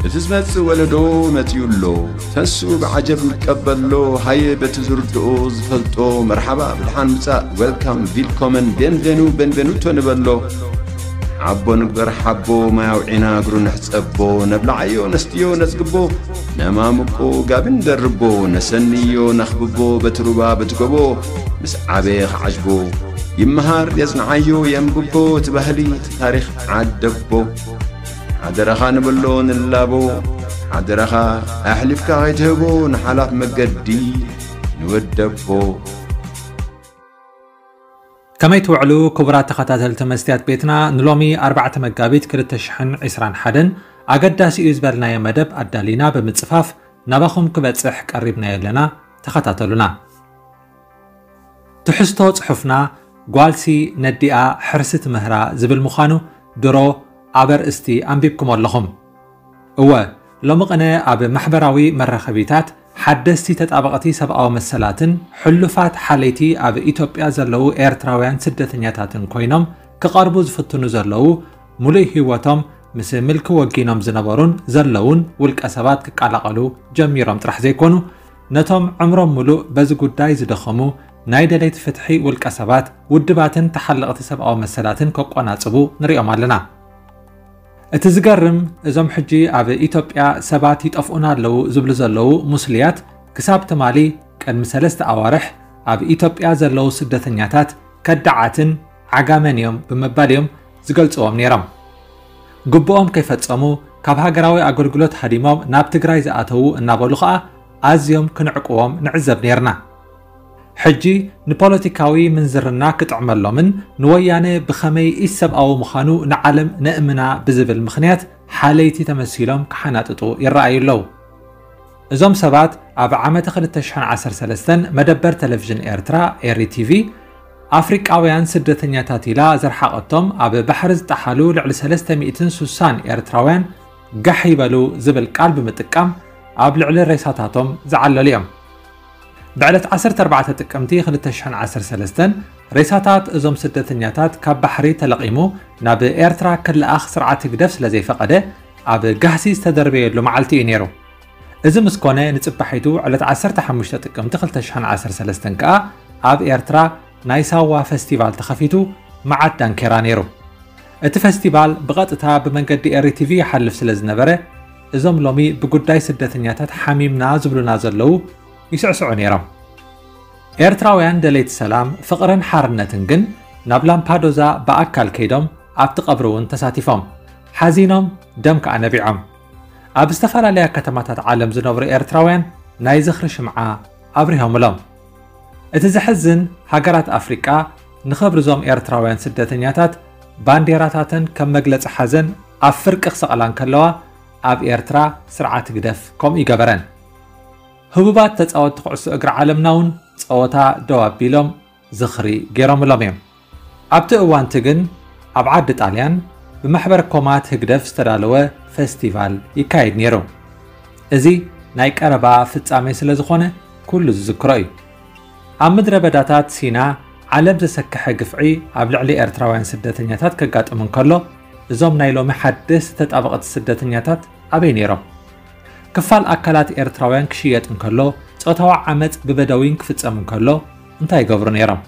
እቲ ዝመጽእ ወለዶ መጺኡ ኣሎ። ተንስኡ ብዓጀብ ንቀበሎ። ሃየ በቲ ዝርድኦ ዝፈልጦ መርሓባ ብድሓን ምጻእ፣ ዌልካም፣ ቪልኮመን፣ ቤንቬኑ፣ ቤንቬኑቶ ንበሎ። ሓቦ ንግበር ሓቦ፣ ማይ ኣውዒና እግሩ ንሕጸቦ። ነብልዓዮ ነስትዮ ነጽግቦ፣ ነማምቆ ጋቢ ንደርቦ። ነሰንዮ ነኽብቦ በቲ ሩባ በቲ ጎቦ። ምስ ዓበየ ክዓጅቦ ይመሃር የጽንዓዮ የንብቦ። እቲ ባህሊ እቲ ታሪኽ ዓደቦ። ሓደራኻ ንብሎ ንላቦ። ሓደራኻ ኣሕሊፍካ ከይትህቦ ንሓላፍ መገዲ ንወደቦ። ከመይ ትውዕሉ ክቡራት ተኸታተልቲ መስትያት ቤትና? ንሎሚ ኣርባዕተ መጋቢት ክልተ ሽሕን ዕስራን ሓደን ኣገዳሲ እዩ ዝበልናዮ መደብ ኣዳሊና ብምጽፋፍ ናባኹም ክበጽሕ ቀሪብናዮ ኣለና። ተኸታተሉና። ትሕዝቶ ጽሑፍና ጓልሲ ነዲኣ ሕርሲ ትምህራ ዝብል ምዃኑ ድሮ ኣብ ኣርእስቲ ኣንቢብኩም ኣለኹም። እወ፣ ሎሚ ቅነ ኣብ ማሕበራዊ መራኸቢታት ሓደስቲ ተጣበቕቲ ሰብኣዊ መሰላትን ሕሉፋት ሓለይቲ ኣብ ኢትዮጵያ ዘለዉ ኤርትራውያን ስደተኛታትን ኮይኖም ክቐርቡ ዝፍትኑ ዘለዉ፣ ሙሉእ ህይወቶም ምስ ምልኪ ወጊኖም ዝነበሩን ዘለዉን ውልቀ ሰባት ክቀላቐሉ ጀሚሮም ጥራሕ ዘይኮኑ፣ ነቶም ዕምሮም ሙሉእ በዚ ጉዳይ ዝደኸሙ ናይ ደለይቲ ፍትሒ ውልቀ ሰባት፣ ውድባትን ተሓለቕቲ ሰብኣዊ መሰላትን ከቆናጽቡ ንሪኦም ኣለና። እቲ ዝገርም፣ እዞም ሕጂ ኣብ ኢትዮጵያ ሰባት ይጠፍኡና ኣለዉ ዝብሉ ዘለዉ ሙስልያት፣ ክሳብ ትማሊ ቅድሚ ሰለስተ ኣዋርሕ ኣብ ኢትዮጵያ ዘለዉ ስደተኛታት ከዳዓትን ዓጋመን እዮም ብምባል እዮም ዝገልጽዎም ነይሮም። ግቡኦም ከይፈጸሙ ካብ ሃገራዊ ኣገልግሎት ሃዲሞም ናብ ትግራይ ዝኣተዉ እናበሉ ኸኣ ኣዝዮም ክንዕቅዎም ንዕዘብ ነይርና። ሕጂ ንፖለቲካዊ ምንዝርና ክጥዕመሎምን ንወያነ ብኸመይ ኢሰብኣዊ ምዃኑ ንዓለም ነእምና ብዝብል ምኽንያት ሓለይቲ ተመሲሎም ክሓናጥጡ ይረኣዩ ኣለዉ። እዞም ሰባት ኣብ ዓመተ ክልተ ሽሕን ዓሰርተ ሰለስተን መደበር ቴሌቪዥን ኤርትራ፣ ኤሪ ቲቪ፣ ኣፍሪቃውያን ስደተኛታት ኢላ ዘርሓቐቶም ኣብ ባሕሪ ዝጠሓሉ ልዕሊ ሰለስተ ሚእትን ስሳን ኤርትራውያን ጋሕ ይበሉ ዝብል ቃል ብምጥቃም ኣብ ልዕሊ ሬሳታቶም ዝዓለሉ እዮም። ብዕለት ዓሰርተ ኣርባዕተ ጥቅምቲ ክልተ ሽሕን ዓሰርተ ሰለስተን ሬሳታት እዞም ስደተኛታት ካብ ባሕሪ ተለቒሙ ናብ ኤርትራ ክለኣኽ ስርዓት ህግደፍ ስለ ዘይፈቐደ ኣብ ጋህሲ ዝተደርበየሉ መዓልቲ እዩ ነይሩ። እዚ ምስ ኮነ ንጽባሒቱ ዕለት ዓሰርተ ሓሙሽተ ጥቅምቲ ክልተ ሽሕን ዓሰርተ ሰለስተን ከኣ ኣብ ኤርትራ ናይ ሳዋ ፈስቲቫል ተኸፊቱ መዓት ዳንኬራ ነይሩ። እቲ ፈስቲቫል ብቐጥታ ብመንገዲ ኤሪ ቲቪ ይሓልፍ ስለ ዝነበረ እዞም ሎሚ ብጉዳይ ስደተኛታት ሓሚምና ዝብሉና ዘለዉ ይስዕስዑ ነይሮም። ኤርትራውያን ደለይቲ ሰላም፣ ፍቕርን ሓርነትን ግን ናብ ላምፓዶዛ ብኣካል ከይዶም ኣብቲ ቀብሪ እውን ተሳቲፎም። ሓዚኖም፣ ደም ከኣ ነቢዖም። ኣብ ዝተፈላለያ ከተማታት ዓለም ዝነብሩ ኤርትራውያን ናይ ዝኽሪ ሽምዓ ኣብሪሆምሎም። እቲ ዘሕዝን፣ ሃገራት ኣፍሪቃ ንኽብሪ እዞም ኤርትራውያን ስደተኛታት ባንዴራታተን ከም መግለጺ ሓዘን ኣብ ፍርቂ ክሰቕላ እንከለዋ፣ ኣብ ኤርትራ ስርዓት ህግደፍ ከምኡ ይገበረን። ህቡባት ተጻወትቲ ኩዕሶ እግሪ ዓለምና እውን ጸወታ ደው ኣቢሎም ዝኽሪ ገይሮምሎም እዮም። ኣብቲ እዋንቲ ግን ኣብ ዓዲ ጣልያን ብማሕበር ኮማት ህግደፍ ዝተዳለወ ፈስቲቫል ይካየድ ነይሩ። እዚ ናይ ቀረባ ፍጻሜ ስለ ዝኾነ ኩሉ ዝዝክሮ እዩ። ኣብ ምድረ በዳታት ሲና ዓለም ዘሰክሐ ግፍዒ ኣብ ልዕሊ ኤርትራውያን ስደተኛታት ከጋጥም እንከሎ፣ እዞም ናይ ሎሚ ሓደስቲ ተጣበቕቲ ስደተኛታት ኣበይ ነይሮም? ክፋል ኣካላት ኤርትራውያን ክሽየጥ እንከሎ፣ ጾታዊ ዓመጽ ብበደዊን ክፍጸም እንከሎ እንታይ ይገብሩ ነይሮም?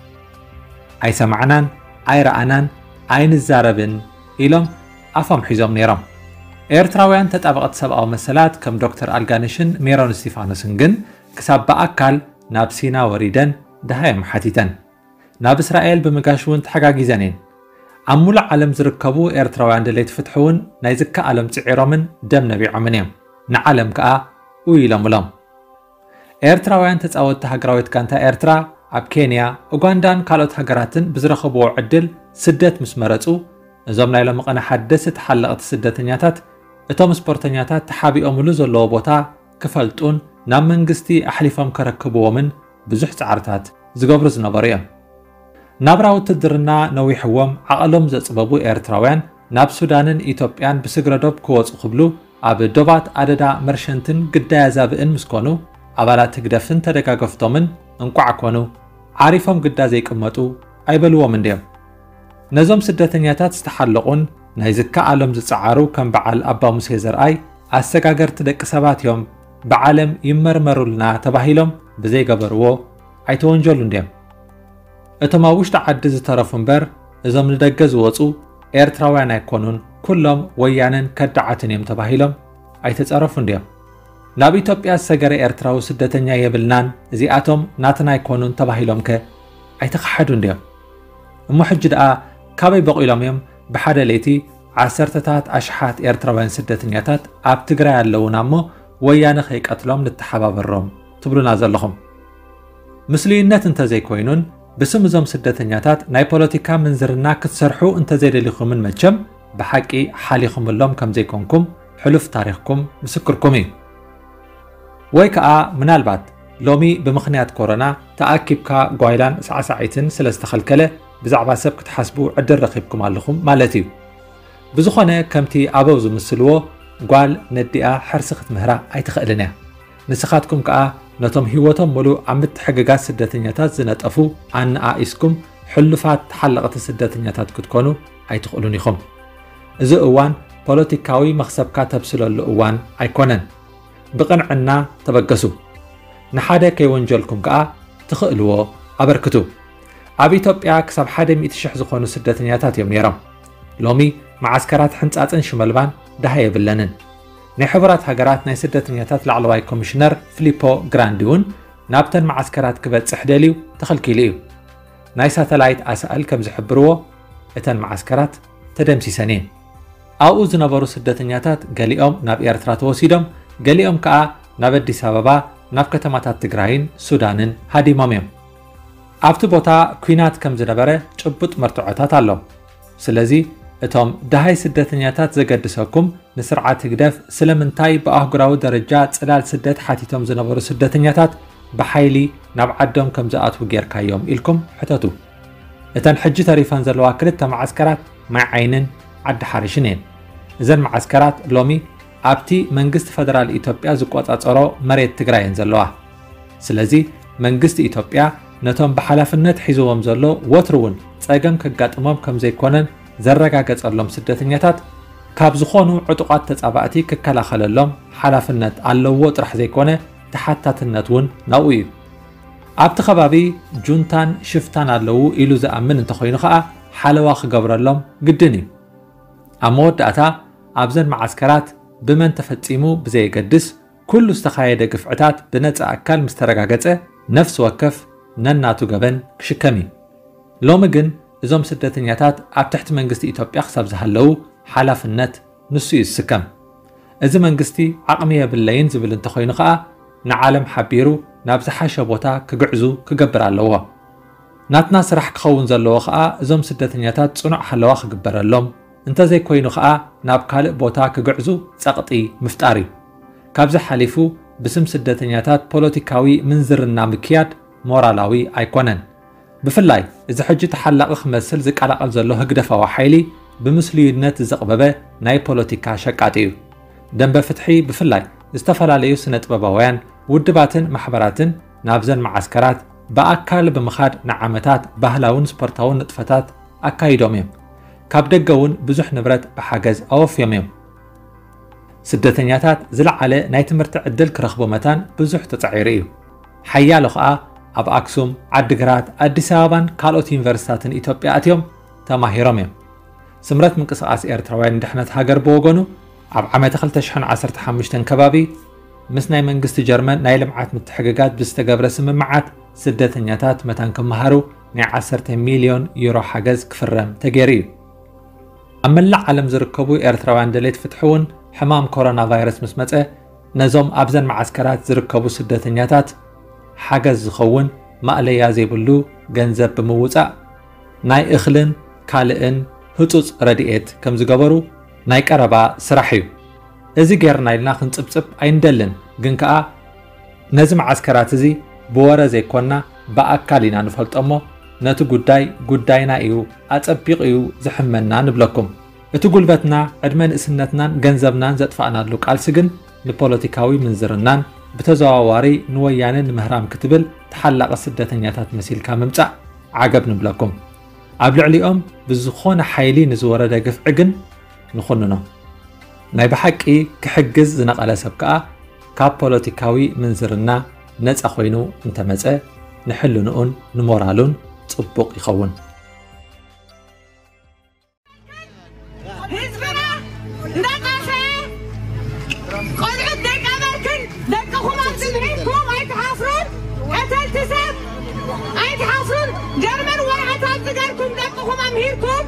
ኣይሰማዕናን፣ ኣይረኣናን፣ ኣይንዛረብን ኢሎም ኣፎም ሒዞም ነይሮም። ኤርትራውያን ተጣበቕቲ ሰብኣዊ መሰላት ከም ዶክተር ኣልጋንሽን ሜሮን እስቲፋኖስን ግን ክሳብ ብኣካል ናብ ሲና ወሪደን ደሃዮም ሓቲተን። ናብ እስራኤል ብምጋሽ እውን ተሓጋጊዘን እየን። ኣብ ሙሉእ ዓለም ዝርከቡ ኤርትራውያን ደለይቲ ፍትሒ እውን ናይ ዝከኣሎም ጽዒሮምን ደም ነቢዖምን እዮም። ንዓለም ከኣ ኡይ ኢሎምሎም። ኤርትራውያን ተጻወትቲ ሃገራዊት ጋንታ ኤርትራ ኣብ ኬንያ፣ ኡጋንዳን ካልኦት ሃገራትን ብዝረኸብዎ ዕድል ስደት ምስ መረጹ፣ እዞም ናይ ሎሚ ቀነ ሓደስቲ ተሓለቕቲ ስደተኛታት እቶም ስፖርተኛታት ተሓቢኦምሉ ዘለዎ ቦታ ክፈልጡን ናብ መንግስቲ ኣሕሊፎም ከረክብዎምን ብዙሕ ጻዕርታት ዝገብሩ ዝነበሩ እዮም። ናብራ ውትድርና ነዊሕዎም ዓቐሎም ዘጽበቡ ኤርትራውያን ናብ ሱዳንን ኢትዮጵያን ብስግረዶብ ክወጹ ክብሉ ኣብ ዶባት ኣደዳ መርሸንትን ግዳይ ኣዛብእን ምስ ኮኑ፣ ኣባላት ህግደፍን ተደጋገፍቶምን እንቋዕ ኮኑ፣ ዓሪፎም ግዳ ዘይቅመጡ ኣይበልዎም እንድዮም። ነዞም ስደተኛታት ዝተሓለቑን ናይ ዝከኣሎም ዝጸዓሩ ከም በዓል ኣባ ሙሴ ዘርኣይ፣ ኣሰጋገርቲ ደቂ ሰባት እዮም፣ ብዓለም ይመርመሩልና ተባሂሎም ብዘይገበርዎ ኣይተወንጀሉን ድዮም? እቶም ኣብ ውሽጢ ዓዲ ዝተረፉ እምበር፣ እዞም ንደገ ዝወጹ ኤርትራውያን ኣይኮኑን፣ ኩሎም ወያነን ከዳዓትን እዮም ተባሂሎም ኣይተጸረፉን ድዮም? ናብ ኢትዮጵያ ዝሰገረ ኤርትራዊ ስደተኛ የብልናን፣ እዚኣቶም ናትና ኣይኮኑን ተባሂሎም ከ ኣይተኸሓዱን ድዮም? እሞ ሕጂ ደኣ ካበይ በቒሎም እዮም ብሓደ ለይቲ ዓሰርተታት ኣሽሓት ኤርትራውያን ስደተኛታት ኣብ ትግራይ ኣለዉና እሞ ወያነ ከይቀትሎም ንተሓባበሮም ትብሉና ዘለኹም? ምስሉይነት እንተዘይኮይኑን ብስም እዞም ስደተኛታት ናይ ፖለቲካ ምንዝርና ክትሰርሑ እንተዘይደሊኹምን መቸም ብሓቂ ሓሊኹምሎም ከምዘይኮንኩም ሕሉፍ ታሪኽኩም ምስክርኩም እዩ። ወይ ከኣ ምናልባት ሎሚ ብምኽንያት ኮሮና ተኣኪብካ ጓይላን ሳዕሳዒትን ስለ ዝተኸልከለ ብዛዕባ ሰብ ክትሓስቡ ዕድል ረኺብኩም ኣለኹም ማለት እዩ። ብዝኾነ ከምቲ ኣበው ዝምስልዎ ጓል ነዲኣ ሕርሲ ክትምህራ ኣይትኽእልን እያ። ንስኻትኩም ከኣ ነቶም ህይወቶም ሙሉእ ኣብ ምትሕግጋዝ ስደተኛታት ዝነጠፉ ኣነኣኢስኩም ሕሉፋት ተሓለቕቲ ስደተኛታት ክትኮኑ ኣይትኽእሉን ኢኹም። እዚ እዋን ፖለቲካዊ መኽሰብካ ተብስለሉ እዋን ኣይኮነን። ብቕንዕና ተበገሱ። ንሓደ ከይወንጀልኩም ከኣ ትኽእልዎ ኣበርክቱ። ኣብ ኢትዮጵያ ክሳብ ሓደ ሚእቲ ሽሕ ዝኾኑ ስደተኛታት እዮም ነይሮም። ሎሚ መዓስከራት ሕንጻጽን ሽመልባን ደሃ የብለንን። ናይ ሕቡራት ሃገራት ናይ ስደተኛታት ላዕለዋይ ኮሚሽነር ፊሊፖ ግራንዲ እውን ናብተን መዓስከራት ክበጽሕ ደልዩ ተኸልኪሉ እዩ። ናይ ሳተላይት ኣሳእል ከም ዝሕብርዎ እተን መዓስከራት ተደምሲሰን እየን። ኣብኡ ዝነበሩ ስደተኛታት ገሊኦም ናብ ኤርትራ ተወሲዶም፣ ገሊኦም ከኣ ናብ ኣዲስ ኣበባ፣ ናብ ከተማታት ትግራይን ሱዳንን ሃዲሞም እዮም። ኣብቲ ቦታ ኲናት ከም ዝነበረ ጭቡጥ መርትዖታት ኣሎ። ስለዚ እቶም ደሃይ ስደተኛታት ዘገድሰኩም ንስርዓት ህግደፍ ስለምንታይ ብኣህጉራዊ ደረጃ ጽላል ስደት ሓቲቶም ዝነበሩ ስደተኛታት ብሓይሊ ናብ ዓዶም ከም ዝኣትዉ ጌርካዮም ኢልኩም ሕተቱ። እተን ሕጂ ተሪፈን ዘለዋ ክልተ መዓስከራት ማይ ዓይንን ዓዲ ሓሪሽን እየን። እዘን መዓስከራት ሎሚ ኣብቲ መንግስቲ ፈደራል ኢትዮጵያ ዝቆጻጸሮ መሬት ትግራይ እየን ዘለዋ። ስለዚ መንግስቲ ኢትዮጵያ ነቶም ብሓላፍነት ሒዝዎም ዘሎ ወትሩ እውን ጸገም ከጋጥሞም ከም ዘይኮነን ዘረጋገጸሎም ስደተኛታት ካብ ዝኾኑ ዕጡቓት ተጻባእቲ ክከላኸለሎም ሓላፍነት ኣለዎ ጥራሕ ዘይኮነ ተሓታትነት እውን ናብኡ እዩ። ኣብቲ ከባቢ ጁንታን ሽፍታን ኣለዉ ኢሉ ዝኣምን እንተኾይኑ ኸኣ ሓለዋ ክገብረሎም ግድን እዩ። ኣብ መወዳእታ ኣብዘን መዓስከራት ብመን ተፈጺሙ ብዘየገድስ ኩሉ ዝተኻየደ ግፍዕታት ብነጻ ኣካል ምስ ተረጋገጸ ነፍሲ ወከፍ ነናቱ ገበን ክሽከም እዩ። ሎሚ ግን እዞም ስደተኛታት ኣብ ትሕቲ መንግስቲ ኢትዮጵያ ክሳብ ዝሃለዉ ሓላፍነት ንሱ እዩ ዝስከም። እዚ መንግስቲ ዓቕሚ የብለይን ዝብል እንተኾይኑ ኸኣ ንዓለም ሓቢሩ ናብ ዝሓሸ ቦታ ክግዕዙ ክገብር ኣለዎ። ናትና ስራሕ ክኸውን ዘለዎ ኸኣ እዞም ስደተኛታት ጽኑዕ ሓለዋ ክግበረሎም፣ እንተዘይኮይኑ ኸኣ ናብ ካልእ ቦታ ክግዕዙ ጸቕጢ ምፍጣር እዩ። ካብዚ ሓሊፉ ብስም ስደተኛታት ፖለቲካዊ ምንዝርና ምክያድ ሞራላዊ ኣይኮነን። ብፍላይ እዚ ሕጂ ተሓላቒ ክመስል ዝቀላቐል ዘሎ ህግደፋዊ ሓይሊ ብምስልዩነት ዝዘቕበበ ናይ ፖለቲካ ሸቃጢ እዩ። ደንበ ፍትሒ ብፍላይ ዝተፈላለዩ ስነ ጥበባውያን ውድባትን ማሕበራትን ናብዘን መዓስከራት ብኣካል ብምኻድ ንዓመታት ባህላውን ስፖርታውን ንጥፈታት ኣካይዶም እዮም። ካብ ደገ እውን ብዙሕ ንብረት ብሓገዝ ኣወፍዮም እዮም። ስደተኛታት ዝለዓለ ናይ ትምህርቲ ዕድል ክረኽቡ መታን ብዙሕ ተጻዒሩ እዩ። ሓያሎ ኸኣ ኣብ ኣክሱም፣ ዓዲግራት፣ ኣዲስ ኣበባን ካልኦት ዩኒቨርሲታትን ኢትዮጵያ ኣትዮም ተማሂሮም እዮም። ስምረት ምንቅስቓስ ኤርትራውያን ንድሕነት ሃገር ብወገኑ ኣብ ዓመተ ክልተ ሽሕን ዓሰርተ ሓሙሽተን ከባቢ ምስ ናይ መንግስቲ ጀርመን ናይ ልምዓት ምትሕግጋዝ ብዝተገብረ ስምምዓት ስደተኛታት መታን ክመሃሩ ናይ ዓሰርተ ሚልዮን ዩሮ ሓገዝ ክፍረም ተገይሩ እዩ። ኣብ መላእ ዓለም ዝርከቡ ኤርትራውያን ደለይቲ ፍትሒ እውን ሕማም ኮሮና ቫይረስ ምስ መጸ ነዞም ኣብዘን መዓስከራት ዝርከቡ ስደተኛታት ሓገዝ ዝኸውን ማእለያ ዘይብሉ ገንዘብ ብምውጻእ ናይ እኽልን ካልእን ህጹጽ ረድኤት ከም ዝገበሩ ናይ ቀረባ ስራሕ እዩ። እዚ ጌርና ኢልና ክንጽብጽብ ኣይንደልን፣ ግን ከኣ ነዚ መዓስከራት እዚ ብወረ ዘይኮንና ብኣካል ኢና ንፈልጦ እሞ ነቲ ጉዳይ ጉዳይና እዩ፣ ኣጸቢቑ እዩ ዝሕመና ንብለኩም። እቲ ጉልበትና፣ ዕድመ ንእስነትናን ገንዘብናን ዘጥፋእናሉ ቃልሲ ግን ንፖለቲካዊ ምንዝርናን ብተዘዋዋሪ ንወያነ ንምህራም ክትብል ተሓላቒ ስደተኛታት መሲልካ ምምጻእ ዓገብ ንብለኩም። ኣብ ልዕሊኦም ብዝኾነ ሓይሊ ንዝወረደ ግፍዒ ግን ንኹንኖ። ናይ ብሓቂ ክሕግዝ ዝነቐለ ሰብ ከኣ ካብ ፖለቲካዊ ምንዝርና ነጻ ኮይኑ እንተመጸ ንሕልንኡን ንሞራሉን ጽቡቕ ይኸውን። ህዝብና እንዳጠፍአ፣ ቆልዑት ደይቀበርክን ደቅኹም ኣብ ዝብዒኩም ኣይትሓፍሩን? ቀተልቲ ሰብ ኣይትሓፍሩን? ጀርመን ወረቐት ኣብ ዝገርኩም ደቅኹም ኣምሂርኩም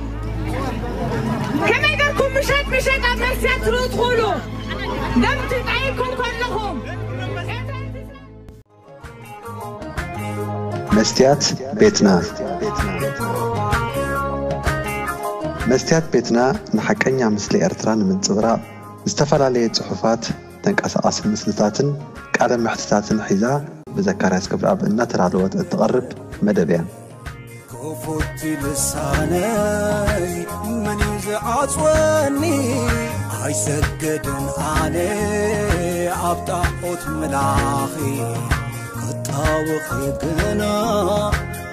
ከመይ ገርኩም ምሸት ምሸት ኣብ መስትያት ትርእዩ ትኽእሉ? ደም ትጣይኩም ከለኹም መስትያት ቤትና። መስትያት ቤትና ንሓቀኛ ምስሊ ኤርትራ ንምንጽብራቕ ዝተፈላለየ ጽሑፋት፣ ተንቀሳቓሲ ምስልታትን ቃለ መሕትታትን ሒዛ ብዘካርያስ ገብረኣብ እናተዳለወት እትቐርብ መደብ እያ። ክፉት ልሳነይ መን እዩ ዝዓጽወኒ? ኣይሰገድን ኣነ ኣብ ጣዖት ምላኺ ክጣወኺ ግና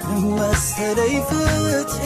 ንመሰለይ ፍትሒ